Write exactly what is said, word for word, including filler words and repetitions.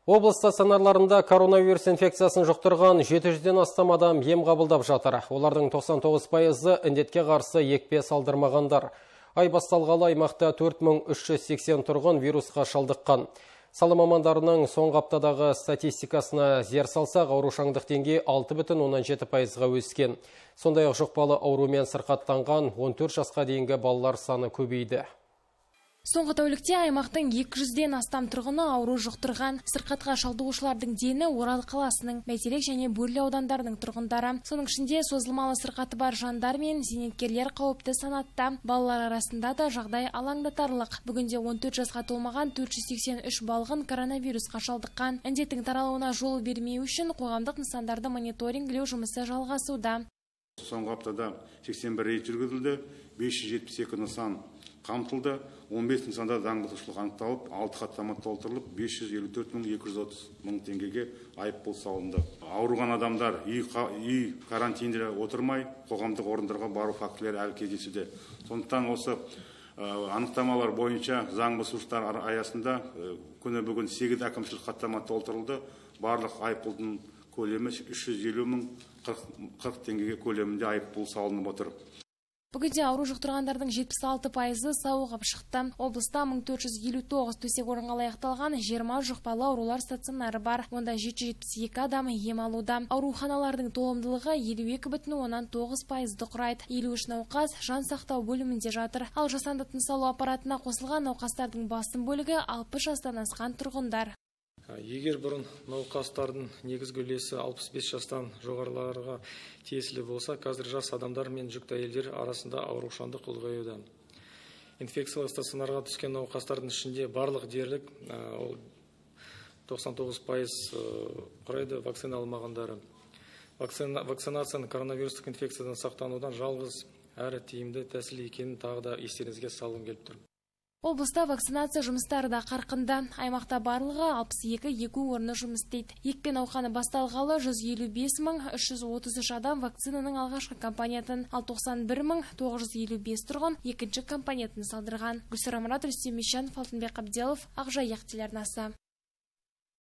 Облыс стационарларында коронавирус инфекциясын жұқтырған жеті жүзден астам адам ем қабылдап жатыр. Олардың тоқсан тоғыз пайызы індетке қарсы екпе салдырмағандар. Ай басталғалы аймақта төрт мың үш жүз сексен тұрғын вирусқа шалдыққан. Сала мамандарының соңғы аптадағы статистикасына зер салсақ, аурушаңдық деңгейі алты бүтін оннан жеті пайызға өскен. Сондай-ақ жұқпалы аурумен сырқаттанған он төрт жасқа дейінгі балалар саны көбейді. Соңғы тәулікте аймақтың екі жүзден астам тұрғыны ауру жұқтырған. Сырқатқа шалдығушылардың дені Орал қаласының, Бәйтерек және Бөрлі аудандарының тұрғындары. Соның ішінде созылмалы сырқаты бар жандар мен зейнеткерлер қауіпті санатта. Балалар арасында да жағдай алаңдатарлық. Бүгінде он төрт жасқа толмаған төрт жүз сексен үш балғын коронавирусқа шалдыққан. Індеттің таралуына жол бермеу үшін қоғамдық нысандарды мониторингілеу жұмысы жалғасуда. Соңғы аптада сексен бір рейд жүргізілді, бес жүз жетпіс екі нысан қамтылды, он бес нысанда заңбұзушылық анықталып, алты хаттама толтырылып, бес жүз елу төрт мың екі жүз отыз мың теңгеге айыппұл салынды. Ауырған адамдар үй, үй карантинде отырмай, қоғамдық орындарға бару фактілері әлі кездесуде. Сондықтан осы анықтамалар бойынша заңбұзушылықтар аясында күні бүгін сегіз әкімшілік хаттама толтырылды. Барлық айыппұлдың көлемі үш жүз елу мың қырық теңгеге көлемінде айыппұл салынып отыр. Бүгінде ауру жұқтырғандардың жетпіс алты пайызы сауығып шықты. Облыста мың төрт жүз елу тоғыз төсек орынға лайықталған жиырма жұқпалы аурулар стационары бар. Онда жеті жүз жетпіс екі адам ем алуда. Ауруханалардың толымдылығы елу екі бүтін оннан тоғыз пайызды құрайды. елу үш науқас жан сақтау бөлімінде жатыр. Ал жасанды тыныс алу аппаратына қосылған науқастардың басым бөлігі алпыс жастан асқан тұрғындар. Егер бұрын науқастардың негізгі үлесі алпыс бес жастан жоғарыларға тиесілі болса, қазір жас адамдар мен жүкті әйелдер арасында аурушаңдық ұлғаюда. Инфекциялық стационарға түскен науқастардың ішінде барлық дерлік тоқсан тоғыз пайыз құрайды вакцина алмағандары. Вакцинацияның коронавирустық инфекциядан сақтанудан жалғыз әрі тиімді тәсіл екенін тағы да естеріңізге салғым келіп тұр. Облыста вакцинация жұмыстары да қарқынды. Аймақта барлығы алпыс екі егу орны жұмыс істейді. Екпе науқаны басталғалы жүз елу бес мың үш жүз отыз үш адам вакцинаның алғашқы компаниятын, ал тоқсан бір мың тоғыз жүз елу бес тұрғын екінші компаниятын салдырған. Гүлсара Мұрат, Рүстем Мещанов, Алтынбек Абделов, Ақжайық телеарнасы.